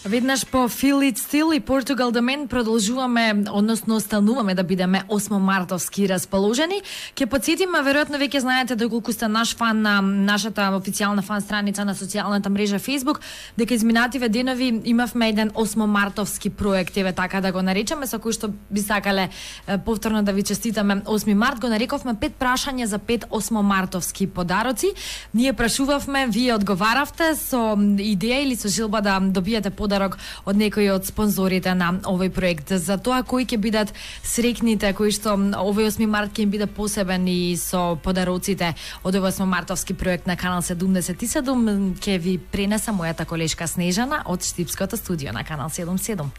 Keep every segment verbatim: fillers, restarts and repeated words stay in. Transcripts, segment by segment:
Веднаш по Feel It Still и Portugal The Man продолжуваме, односно остануваме да бидеме осмомартовски расположени. Ке подсетиме, веројатно веќе знаете доколку сте наш фан на нашата официјална фан страница на социјалната мрежа Facebook, дека изминативе денови имавме еден осмомартовски проект, еве така да го наречеме, со кој што би сакале повторно да ви честитаме осми март. Го нарековме пет прашања за пет осмомартовски подароци. Ние прашувавме, вие одговаравте со идеја или со желба да добиете подарок од некој од спонзорите на овој проект. За тоа кои ќе бидат среќните, кои што овој осми март ќе им биде посебен и со подароците од овој осмомартовски проект на Канал седумдесет и седум, ќе ви пренеса мојата колешка Снежана од Штипското студио на Канал седумдесет и седум.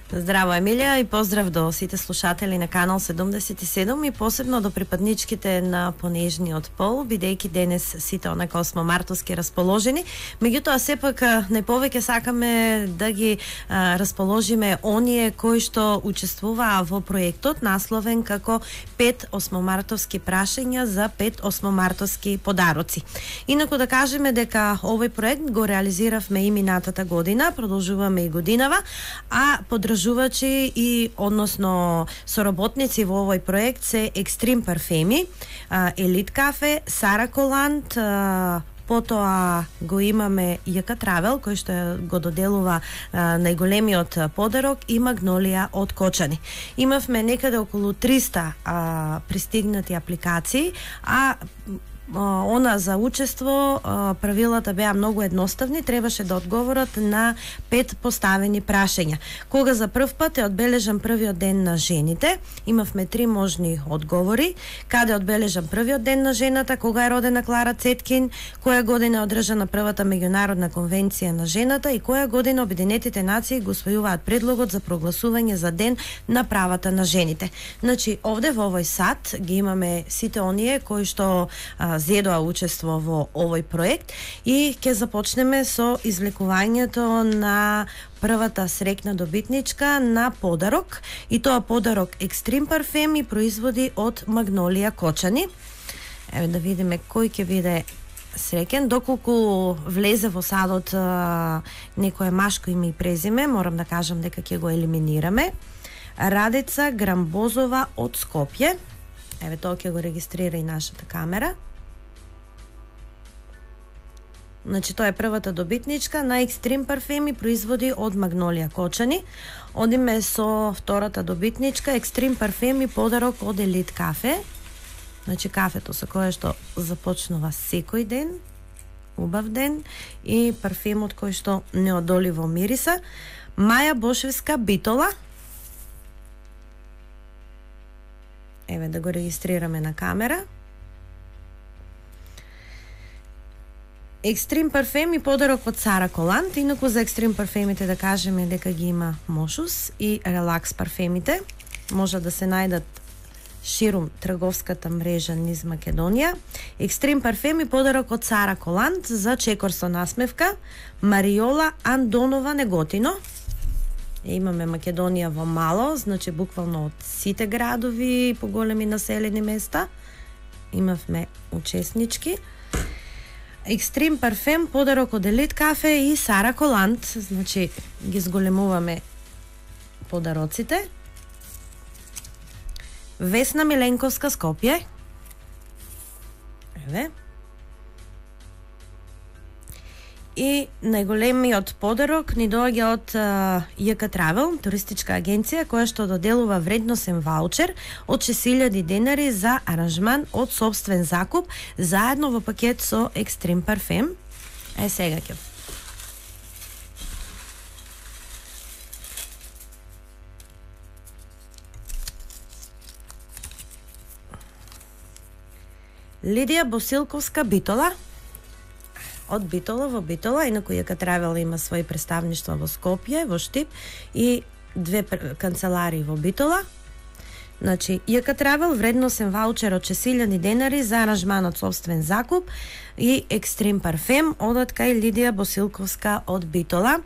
Здраво, Емилија, и поздрав до сите слушатели на Канал седумдесет и седум и посебно до припадничките на понежниот пол, бидејќи денес сите онака осмомартовски расположени. Меѓутоа, сепак најповеќе сакаме да ги а, расположиме оние кои што учествуваа во проектот, насловен како пет осмомартовски прашања за пет осмомартовски подароци. Инаку да кажеме дека овој проект го реализиравме и минатата година, продолжуваме и годинава, а подржувачи и односно соработници во овој проект се Екстрим парфеми, Елит кафе, Сара Коланд, потоа го имаме Јака Травел, кој што го доделува а, најголемиот подарок, и Магнолија од Кочани. Имавме некаде околу триста а, пристигнати апликации, а она за учество правилата беа многу едноставни, требаше да одговорат на пет поставени прашања. Кога за прв пат е одбележан првиот ден на жените? Имавме три можни одговори. Каде е одбележан првиот ден на жената? Кога е родена Клара Цеткин? Која година е одржана првата меѓународна конвенција на жената и која година Обединетите нации го усвојуваат предлогот за прогласување за ден на правата на жените? Значи, овде во овој сат ги имаме сите оние кои што а, зедоа учество во овој проект и ќе започнеме со извлекувањето на првата среќна добитничка на подарок, и тоа подарок Екстрим парфеми, производи од Магнолија Кочани. Еве да видиме кој ќе биде среќен. Доколку влезе во садот а, некое машко име и презиме, морам да кажам дека ќе го елиминираме. Радица Грамбозова од Скопје. Еве тоа ќе го регистрира и нашата камера. Значи, тоа е првата добитничка на Екстрим парфеми, производи од Магнолија Кочани. Одиме со втората добитничка, Екстрим парфеми, подарок од Елит кафе. Значи, кафето со кое што започнува секој ден, убав ден, и парфемот кој што неодоливо мириса. Маја Бошевска Битола. Еве да го регистрираме на камера. Екстрим парфеми, подарок од Сара Коланд. Инаку за Екстрим парфемите да кажеме дека ги има Мошус и Релакс парфемите. Може да се најдат ширум трговската мрежа низ Македонија. Екстрим парфеми, подарок од Сара Коланд за чекор со насмевка. Мариола Андонова Неготино. E, имаме Македонија во мало, значи буквално од сите градови и поголеми населени места имавме учеснички. Екстрим парфем, подарок од Елит кафе и Сара Коланд, значи ги зголемуваме подароците. Весна Миленковска Скопје. Еве. И најголемиот подарок ни доаѓа од Јака Травел, туристичка агенција која што доделува вредносен ваучер од шест илјади денари за аранжман од сопствен закуп, заедно во пакет со Екстрим парфем. Е, сега ќе Лидија Босилковска Битола. Од Битола во Битола, инаку Јака Травел има своји представништва во Скопје, во Штип и две канцеларии во Битола. Значи, Јака Травел, вредносен ваучер од шест илјади денари за аранжман од собствен закуп и Екстрим парфем одат кај Лидија Босилковска од Битола.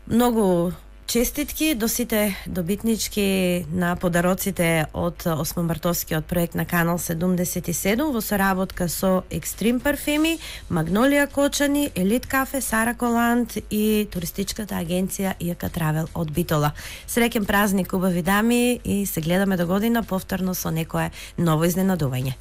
Многу честитки до сите добитнички на подароците од осмомартовскиот проект на Канал седумдесет и седум во соработка со Екстрим парфеми, Магнолија Кочани, Елит кафе, Сара Коланд и туристичката агенција ИАК Травел од Битола. Среќен празник, убави дами, и се гледаме до година повторно со некое ново изненадување.